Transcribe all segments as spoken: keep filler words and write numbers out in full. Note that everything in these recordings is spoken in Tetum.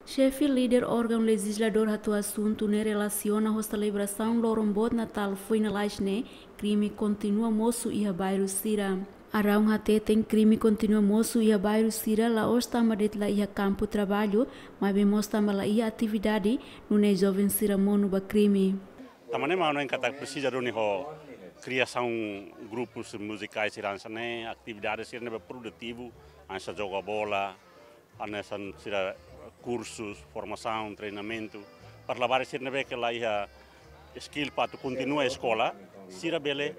Xefe líder órgaun lejizladór hato'o asuntu ne'e relasiona ho selebrasaun loron boot Natál foin lalais ne'e, krime kontinua mosu iha bairru sira. Araun hateten krime kontinua mosu iha bairru sira la'ós tanba de'it la iha kampu traballu, maibé mós tanba la iha atividade, nune'e joven sira monu ba krime. Tanba ne'e mak ha'u hanoin katak presiza duni ho kriasaun grupus muzikais sira hanesan ne'e, atividade sira ne'ebé produtivu, hanesan joga bola, hanesan sira kursus, formasaun, treinamentu. Para labarik sira ne'ebé ke la iha skill para atu kontinua eskola, sira bele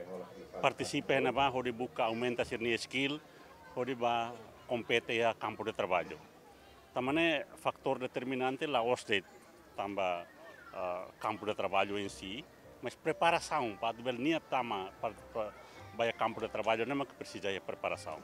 partisipa iha ne'ebá hodi buka aumenta sira-nia skill, hodi bá kompete iha kampu de traballu. Tanba ne'e fatór determinante la'ós de'it tanba, ah, kampu de traballu em si, mas preparasaun para atu bele nia tama para, para bá iha kampu de traballu ne'e mak presiza iha preparasaun.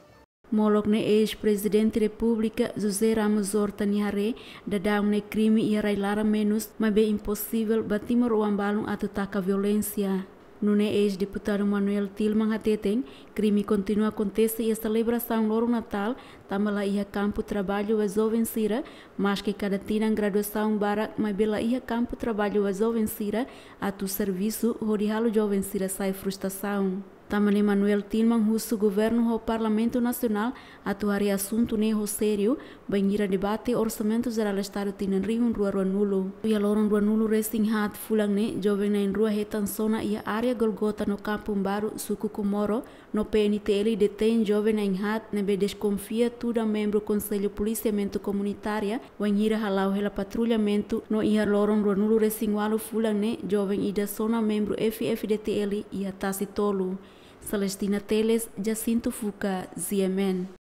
Molok ne'e eis-Prezidente Repúblika José Ramos Horta nia haree, daudaun ne'e krime iha rai-laran menus, maibé imposivel ba timoroan balun atu taka violénsia. Nune'e eis-deputadu Manuel Tilman hateten, krime kontinua akontese iha selebrasaun loron Natál, tanba la iha kampu traballu ba joven sira, maske kada tinan graduasaun barak, maibé la iha kampu traballu ba joven sira atu servisu, hodi halo joven sira sai frustrasaun. Tanba ne'e Manuel Tilman husu governu ho Parlamentu Nasionál atu haree asuntu ne'e ho sériu, bainhira debate Orsamentu Jerál Estadu tinan rihun rua ruanulu. Iha loron ruanulu-resin-haat fulan ne'e, joven na'in-rua hetan sona iha área Golgota no Kampung Baru, suku Comoro, no P N T L detein joven na'in-haat ne'ebé deskonfia tuda membru Konsellu Polisiamentu Komunitária, bainhira hala'o hela patrullamentu, no iha loron ruanulu-resin-ualu fulan ne'e, joven ida sona membru F-FDTL iha Tasi Tolu. Celestina Teles, Jacinto Fuca, G M N.